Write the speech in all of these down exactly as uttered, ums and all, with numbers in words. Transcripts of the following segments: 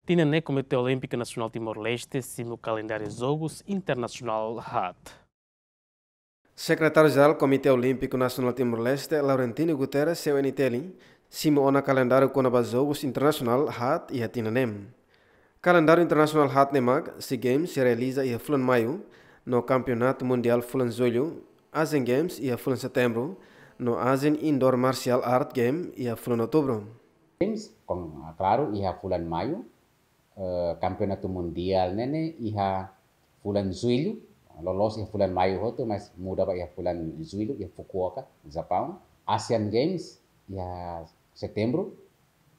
Tinan ne'e Komité Olímpiku Nasionál Timor-Leste simu kalendáriu Jogus Internasionál haat. Sekretáriu Jerál Komité Olímpiku Nasionál Timor-Leste, Laurentino Guterres, C N T L, simu ona kalendáriu kona-ba Jogus Internasionál haat iha tinan ne'e. Kalendáriu internasionál haat ne'e mak, SEA Games realiza iha fulan Maiu, no Kampeonatu Mundiál fulan Jullu, Asian Games iha fulan Setembru, no Asian Indoor Martial Art Game iha fulan Outubru. Games, kon, ah, klaru, iha fulan Maiu, eh, Kampeonatu Mundiál ne'e ne'e iha fulan Jullu, loloos iha fulan Maiu hotu, mas muda ba iha fulan Jullu, iha Fukuoka, Japaun. Asian Games iha Setembru,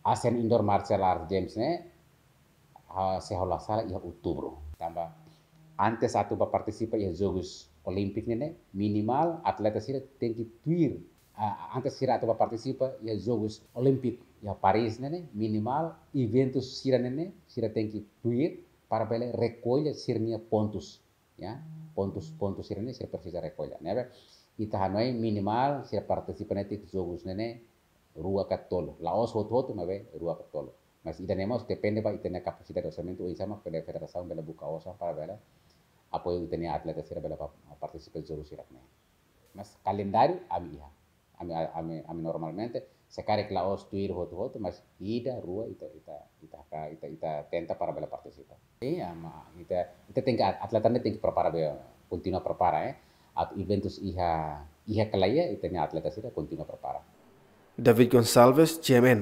Asian Indoor Martial Arts Games ne'e, ah, se ha'u la sala iha Outubru. Tanba antes atu ba partisipa iha Jogus Olímpiku ne'e ne'e, minimal atleta sira tenke tuir. Ah, antes sira atu ba partisipa iha Jogus Olímpiku iha Paris ne'e ne'e, minimal eventu sira ne'e ne'e, sira tenke tuir para bele rekolla sira-nia pontus. Ya, pontus, pontus sira ne'e sira presiza rekolla. Ne'ebé, ita hanoin minimal sira partisipa netik Jogus ne'e ne'e rua ka tolu. La'ós hotu-hotu, maibé rua ka tolu. Mas ida-ne'e mós depende ba ita-nia kapasidade orsamentu, oinsá mak federasaun bele buka osan para bele apoiu ita-nia atleta sira bele pa-, partisipa Jogus sira ne'e. Mas kalendáriu ami iha. Ami, ami, ami normalmente, se karik la'ós tuir hotu-hotu, mas ida, rua, ita, ita, ita, ita, ita tenta para bele partisipa. Iya, ma, ita, ita tenke, atleta ne'e tenke prepara be, kontinua prepara, eh. Atu eventus iha, iha ka lae, ita-nia atleta sira kontinua prepara. David Gonçalves, G M N.